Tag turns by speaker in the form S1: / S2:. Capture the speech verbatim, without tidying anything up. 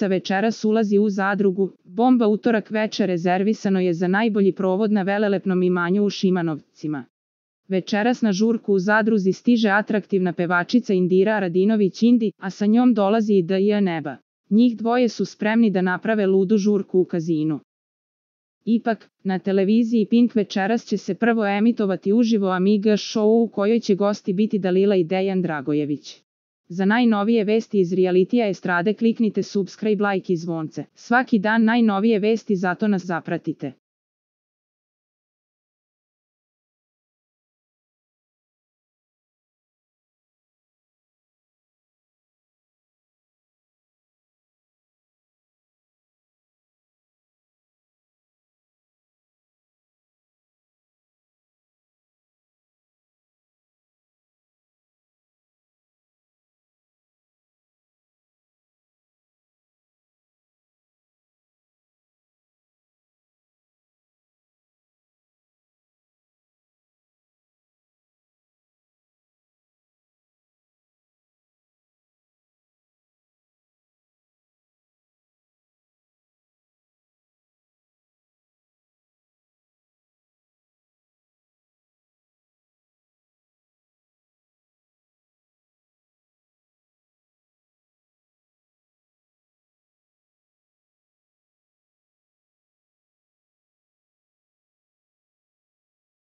S1: Šapca večeras ulazi u Zadrugu, bomba utorak veče rezervisano je za najbolji provod na velelepnom imanju u Šimanovcima. Večeras na žurku u Zadruzi stiže atraktivna pevačica Indira Radinović Indi, a sa njom dolazi i D J Neba. Njih dvoje su spremni da naprave ludu žurku u Kazinu. Ipak, na televiziji Pink večeras će se prvo emitovati uživo Amiga show u kojoj će gosti biti Dalila i Dejan Dragojević. Za najnovije vesti iz realitija estrade kliknite subscribe, like i zvonce. Svaki dan najnovije vesti, zato nas zapratite.